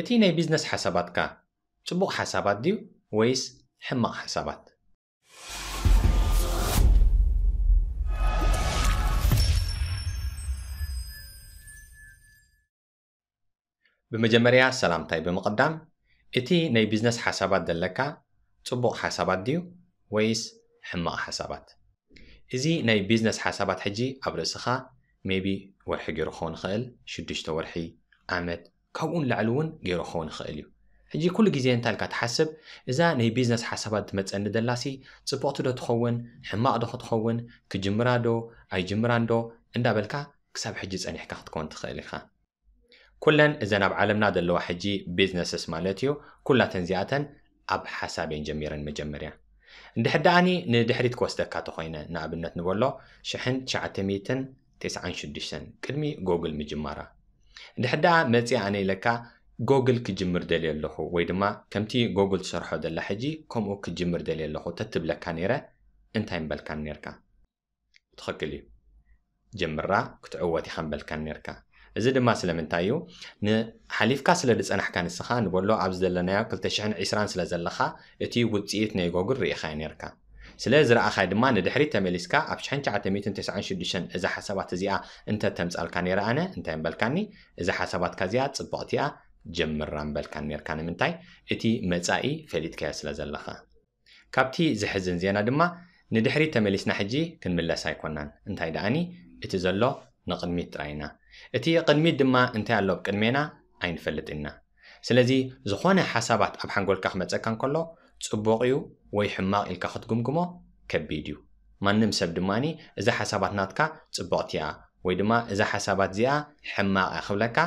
እቲ ናይ ቢዝነስ ሓሳባትካ ጽቡቕ ሓሳባት ድዩ ወይስ ሕማቕ ሓሳባት? ብመጀመርያ ሰላምታይ ብምቕዳም፣ እቲ ናይ ቢዝነስ ሓሳባት ዘለካ ጽቡቕ ሓሳባት ድዩ ወይስ ሕማቕ ሓሳባት? እዚ ናይ ቢዝነስ ሓሳባት ሕጂ ኣብ ርእስኻ maybe ወርሒ ገይሩ ክኸውን ይኽእል፣ ሽዱሽተ ወርሒ፣ ዓመት፣ ካብኡ ንላዕሊ እውን ገይሩ ክኸውን ይኽእል እዩ። ሕጂ ኩሉ ግዜ እንታይ ኢልካ ትሓስብ፣ እዛ ናይ ቢዝነስ ሓሳባት ትመጸኒ ደላሲ ጽቡቕቲ ዶ ትኸውን፣ ሕማቕ ዶ ክትኸውን፣ ክጅምራ ዶ ኣይጅምራን ዶ እንዳበልካ ክሳብ ሕጂ ጸኒሕካ ክትከውን ትኽእል ኢኻ። ኩለን እዘን ኣብ ዓለምና ዘለዋ ሕጂ ቢዝነስስ ማለት እዩ፣ ኩላተን እዚኣተን ኣብ ሓሳብ እየን ጀሚረን መጀመርያ። እንድሕር ደኣኒ ንድሕሪት ክወስደካ ተኾይነ፣ ንኣብነት ንበሎ ሽሕን ትሽዓተ ሚእትን ተስዓን ሽዱሽተን ቅድሚ ጎግል ምጅማራ። እንድሕር ደኣ መጽእ ኣነ ኢለካ ጎግል ክጅምር ደልየ ኣለኹ ወይ ድማ ከምቲ ጎግል ትሰርሖ ዘላ ሕጂ ከምኡ ክጅምር ደልየ ኣለኹ ተትብለካ ነይረ እንታይ ምበልካን ነርካ? ትኽክል እዩ። ጀምራ ክትዕወት ኢኻ ምበልካን ነርካ። እዚ ድማ ስለምንታይ እዩ? ንሓሊፍካ ስለ ዝጸናሕካ ንስኻ ንበሎ ኣብዚ ዘለናዮ ክልተ ሽሕን ዕስራን ስለ ዘለኻ እቲ ውጽኢት ናይ ጎግል ርኢኻዮ ነርካ። ስለ ዝረኣኻይ ድማ ንድሕሪት ተመሊስካ ኣብ ሽሕን ትሽዓተ ሚእትን ተስዓን ሽዱሽተን እዛ ሓሳባት እዚኣ እንተ ተምጻልካ ነይረ ኣነ እንታይ ምበልካኒ? እዛ ሓሳባትካ እዚኣ ጽብቕቲ እያ ጀምራ ምበልካን ነርካ። ንምንታይ? እቲ መጻኢ ፈሊጥካዮ ስለ ዘለኻ። ካብቲ ዝሕዝን ዜና ድማ ንድሕሪት ተመሊስና ሕጂ ክንምለስ ኣይኮናን። እንታይ ደኣኒ እቲ ዘሎ ንቕድሚት ጥራይ ኢና። እቲ ቅድሚት ድማ እንታይ ኣሎ ኣብ ቅድሜና ኣይንፈልጥን ኢና። ስለዚ ዝኾነ ሓሳባት ኣብ ሓንጎልካ ክመጸካ እንከሎ ጽቡቕ እዩ ወይ ሕማቕ ኢልካ ክትግምግሞ ከቢድ እዩ። ማንም ሰብ ድማኒ እዛ ሓሳባት ናትካ ጽቡቕቲ እያ ወይ ድማ እዛ ሓሳባት እዚኣ ሕማቕ እያ ክብለካ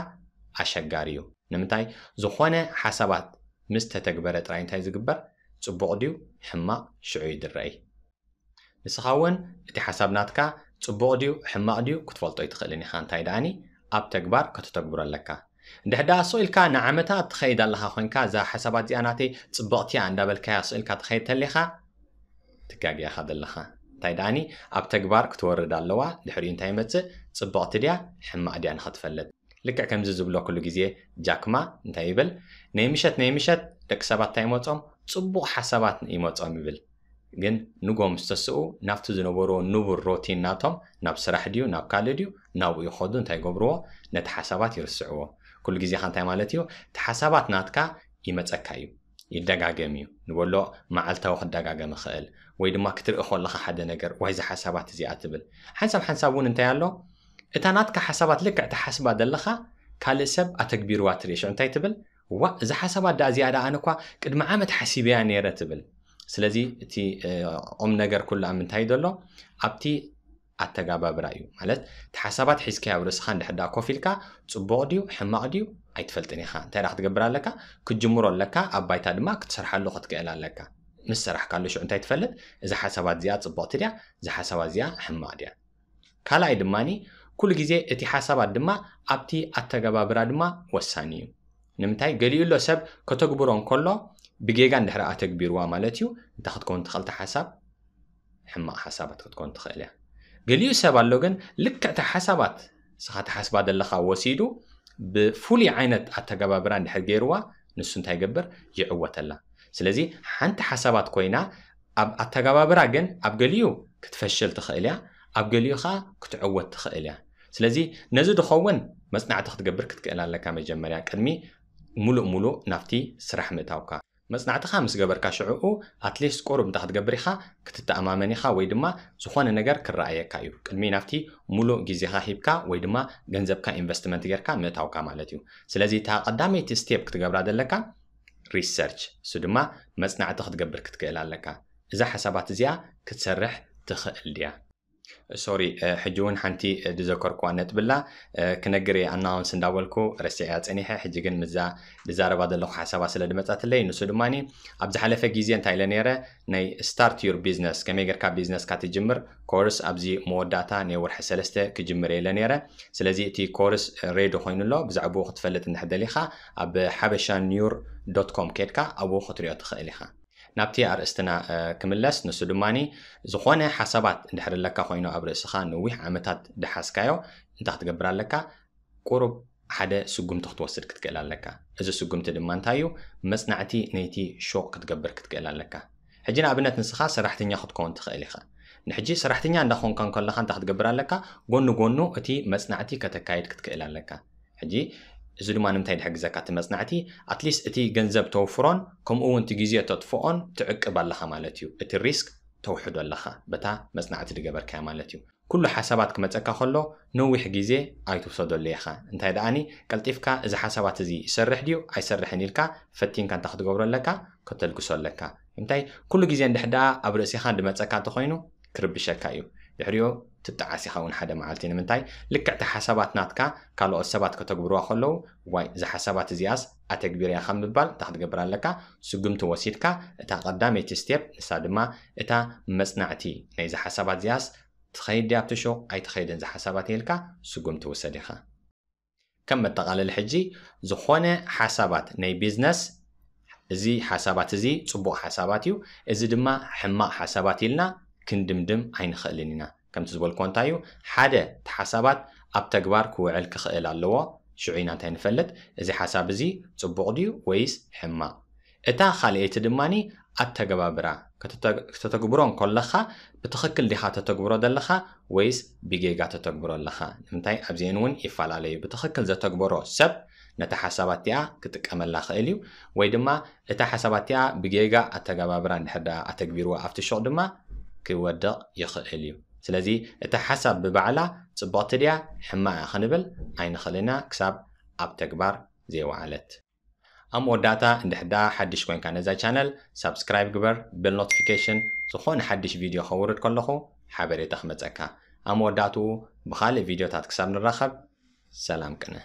ኣሸጋሪ እዩ። ንምንታይ? ዝኾነ ሓሳባት ምስ ተተግበረ ጥራይ እንታይ ዝግበር? ጽቡቕ ድዩ ሕማቕ ሽዑ እዩ ዝረኣይ። ንስኻ እውን እቲ ሓሳብ ናትካ ጽቡቕ ድዩ ሕማቕ ድዩ ክትፈልጦ ኣይትኽእልን ኢኻ። እንታይ ደኣኒ ኣብ ተግባር ከተተግብሮ ኣለካ። እንድሕር ደኣ ስቕ ኢልካ ንዓመታት ትኸይድ ኣለኻ ኮይንካ እዛ ሓሳባት እዚኣ ናተይ ጽብቕቲ እያ እንዳበልካያ ስቕ ኢልካ ትኸይድ ተሊኻ ትጋግያ ኢኻ ዘለኻ። እንታይ ደኣኒ ኣብ ተግባር ክትወርድ ኣለዋ። ድሕሪኡ እንታይ ይመጽእ? ጽብቕቲ ድያ ሕማቕ ድያ ንኽትፈልጥ። ልክዕ ከምዚ ዝብሎ ኩሉ ግዜ ጃክማ እንታይ ይብል? ናይ ምሸት ናይ ምሸት ደቂ ሰባት እንታይ ይመጾም? ጽቡቕ ሓሳባት ይመጾም ይብል። ግን ንጎ ምስ ተስኡ ናብቲ ዝነበርዎ ንቡር ሮቲን ናቶም ናብ ስራሕ ድዩ ናብ ካልእ ድዩ ናብኡ ይኸዱ እንታይ ይገብርዎ? ነቲ ሓሳባት ይርስዕዎ። ኩሉ ግዜኻ እንታይ ማለት እዩ? እቲ ሓሳባት ናትካ ይመጸካ እዩ፣ ይደጋገም እዩ። ንበሎ መዓልታዊ ክደጋገም ይኽእል ወይ ድማ ክትርኢ ከለኻ ሓደ ነገር ዋይ እዚ ሓሳባት እዚኣ ትብል። ሓንሳብ ሓንሳብ እውን እንታይ ኣሎ? እታ ናትካ ሓሳባት ልክዕ ትሓስባ ዘለኻ ካልእ ሰብ ኣተግቢርዋ ትርኢ ሽዑ እንታይ ትብል? ዋ እዛ ሓሳባት ደኣ እዚኣ ደኣ ኣነ እኳ ቅድሚ ዓመት ሓሲበያ ነይረ ትብል። ስለዚ እቲ ቁም ነገር ኩሉ ኣብ ምንታይ ዘሎ ኣብቲ ኣተጋባብራ እዩ። ማለት እቲ ሓሳባት ሒዝካዮ ኣብ ርእስኻ እንድሕር ደኣ ኮፍ ኢልካ ጽቡቕ ድዩ ሕማቕ ድዩ ኣይትፈልጥን ኢኻ። እንታይ ደኣ ክትገብር ኣለካ? ክትጅምሮ ኣለካ፣ ኣብ ባይታ ድማ ክትሰርሓሉ ክትክእል ኣለካ። ምስ ሰራሕካሉ ሽዑ እንታይ ትፈልጥ? እዛ ሓሳባት እዚኣ ጽቡቕቲ ድያ? እዛ ሓሳባት እዚኣ ሕማቕ ድያ? ካልኣይ ድማኒ ኩሉ ግዜ እቲ ሓሳባት ድማ ኣብቲ ኣተገባብራ ድማ ወሳኒ እዩ። ንምንታይ ገሊኡ ኣሎ ሰብ ከተግብሮ እንከሎ ብጌጋ እንድሕር ኣተግቢርዋ ማለት እዩ እንታይ ክትከውን ትኽእል እታ ሓሳብ ሕማቕ ሓሳባት ክትከውን ትኽእል እያ። ገሊኡ ሰብ ኣሎ ግን ልክዕ እታ ሓሳባት ንስኻ ትሓስባ ዘለኻ ወሲዱ ብፍሉይ ዓይነት ኣተገባብራ እንድሕር ገይርዋ ንሱ እንታይ ይገብር ይዕወተላ። ስለዚ ሓንቲ ሓሳባት ኮይና ኣብ ኣተገባብራ ግን ኣብ ገሊኡ ክትፈሽል ትኽእል እያ፣ ኣብ ገሊኡ ኸዓ ክትዕወት ትኽእል እያ። ስለዚ ነዚ ድኸውን መጽናዕቲ ክትገብር ክትክእል ኣለካ። መጀመርያ ቅድሚ ሙሉእ ሙሉእ ናብቲ ስራሕ ምእታውካ መጽናዕትኻ ምስ ገበርካ ሽዕኡ ኣትሊስት ቁሩብ እንታይ ክትገብር ኢኻ ክትተኣማመን ኢኻ ወይ ድማ ዝኾነ ነገር ክረኣየካ እዩ። ቅድሚ ናብቲ ሙሉእ ግዜኻ ሂብካ ወይ ድማ ገንዘብካ ኢንቨስትመንት ጌርካ ምእታውካ ማለት እዩ። ስለዚ እታ ቀዳመይቲ ስቴፕ ክትገብራ ዘለካ ሪሰርች እሱ ድማ መጽናዕቲ ክትገብር ክትክእል ኣለካ። እዛ ሓሳባት እዚኣ ክትሰርሕ ትኽእል ድያ? ሶሪ ሕጂ እውን ሓንቲ ዝዘከርኩዋ ነጥብላ ክነግር እየ ኣናውንስ እንዳበልኩ ረሲዐያ ጸኒሐ። ሕጂ ግን ምዛ ዝዛረባ ዘለኹ ሓሳባ ስለ ድመጻትለይ ንሱ ድማ ኣብ ዝሓለፈ ግዜ እንታይ ኢለ ነይረ ናይ ስታርት ዩር ቢዝነስ ከመይ ጌርካ ቢዝነስካ ትጅምር ኮርስ ኣብዚ መወዳእታ ናይ ወርሒ ሰለስተ ክጅምር ኢለ ነይረ። ስለዚ እቲ ኮርስ ሬዲ ኮይኑ ኣሎ። ብዛዕባኡ ክትፈልጥ እንድሕር ደሊኻ ኣብ ሓበሻ ኒውር ዶት ኮም ኬድካ ኣብኡ ክትሪኦ ትኽእል ኢኻ። ናብቲ ኣርእስትና ክምለስ፣ ንሱ ድማኒ ዝኾነ ሓሳባት እንድሕር ኣለካ ኮይኑ ኣብ ርእስኻ ነዊሕ ዓመታት ድሓዝካዮ እንታይ ክትገብር ኣለካ? ቁሩብ ሓደ ስጉምቲ ክትወስድ ክትክእል ኣለካ። እዚ ስጉምቲ ድማ እንታይ እዩ? መጽናዕቲ ነይቲ ሹቕ ክትገብር ክትክእል ኣለካ። ሕጂ ንኣብነት ንስኻ ሰራሕተኛ ክትከውን ትኽእል ኢኻ። ንሕጂ ሰራሕተኛ እንዳኾንካ እንከለኻ እንታይ ክትገብር ኣለካ? ጎኒ ጎኑ እቲ መጽናዕቲ ከተካይድ ክትክእል ኣለካ። ሕጂ እዚ ድማ ንምንታይ ድሕግዘካ? እቲ መጽናዕቲ ኣትሊስት እቲ ገንዘብ ተውፍሮን ከምኡ እውን እቲ ግዜ ተጥፍኦን ትዕቅብ ኣለኻ ማለት እዩ። እቲ ሪስክ ተውሕዶ ኣለኻ በታ መጽናዕቲ ዝገበርካያ ማለት እዩ። ኩሉ ሓሳባት ክመጸካ ከሎ ነዊሕ ግዜ ኣይትውሰደሉ ኢኻ። እንታይ ደኣኒ ቀልጢፍካ እዚ ሓሳባት እዚ ይሰርሕ ድዩ ኣይሰርሕን ኢልካ ፈቲንካ እንታይ ክትገብሮ ኣለካ? ከተልግሶ ኣለካ። እንታይ ኩሉ ግዜ እንድሕር ደኣ ኣብ ርእሲኻ ድመጸካ እንተኾይኑ ክርብሸካ እዩ። ድሕሪኡ ትጠዓስ ኢኻ እውን ሓደ መዓልቲ። ንምንታይ? ልክዕ እቲ ሓሳባት ናትካ ካልኦት ሰባት ከተግብርዋ ከለዉ፣ ዋይ፣ እዚ ሓሳባት እዚኣስ ኣተግቢረያ ካብ ምባል እንታይ ክትገብር ኣለካ? ስጉምቲ ወሲድካ እታ ቀዳመይቲ ስቴፕ፣ ንሳ ድማ እታ መጽናዕቲ ናይዚ ሓሳባት እዚኣስ ትኸይድ ድያ ኣብቲ ሹቕ ኣይትኸይድን እዚ ሓሳባት ኢልካ ስጉምቲ ውሰድ ኢኻ። ከም መጠቓለሊ ሕጂ ዝኾነ ሓሳባት ናይ ቢዝነስ፣ እዚ ሓሳባት እዚ ጽቡቕ ሓሳባት እዩ፣ እዚ ድማ ሕማቕ ሓሳባት ኢልና ክንድምድም ኣይንኽእልን ኢና። ከምቲ ዝበልኮ እንታይ እዩ፣ ሓደ እቲ ሓሳባት ኣብ ተግባር ክውዕል ክኽእል ኣለዎ። ሽዑ ኢና እንታይ ንፈልጥ፣ እዚ ሓሳብ እዚ ጽቡቕ ድዩ ወይስ ሕማቕ? እታ ካልኣይቲ ድማኒ ኣተገባብራ፣ ከተተ-፣ ከተተግብሮ እንከለኻ ብትኽክል ዲኻ ተተግብሮ ዘለኻ ወይስ ብጌጋ ተተግብሮ ኣለኻ? ንምንታይ ኣብዚአን እውን ይፈላለዩ። ብትኽክል ዘተግበሮ ሰብ ነታ ሓሳባት እቲኣ ክጥቀመላ ክእል እዩ፣ ወይ ድማ እታ ሓሳባት እቲኣ ብጌጋ ኣተገባብራ እንድሕር ደኣ ኣተግቢርዋ ኣብቲ ሹቕ ድማ ክወድቕ ይኽእል እዩ። ስለዚ እታ ሓሳብ ብባዕላ ጽብቕቲ ድያ ሕማቕ እያ ክንብል ኣይንኽእል ኢና ክሳብ ኣብ ተግባር ዘይወዓለት። ኣብ መወዳእታ እንድሕር ደኣ ሓድሽ ኮይንካ ነዛ ቻነል ሳብስክራይብ ግበር፣ ቤል ኖቲፊኬሽን ዝኾነ ሓድሽ ቪድዮ ከውርድ ከለኹ ሓበሬታ ክመጸካ። ኣብ መወዳእትኡ ብኻልእ ቪድዮታት ክሳብ ንራኸብ ሰላም ቅነ።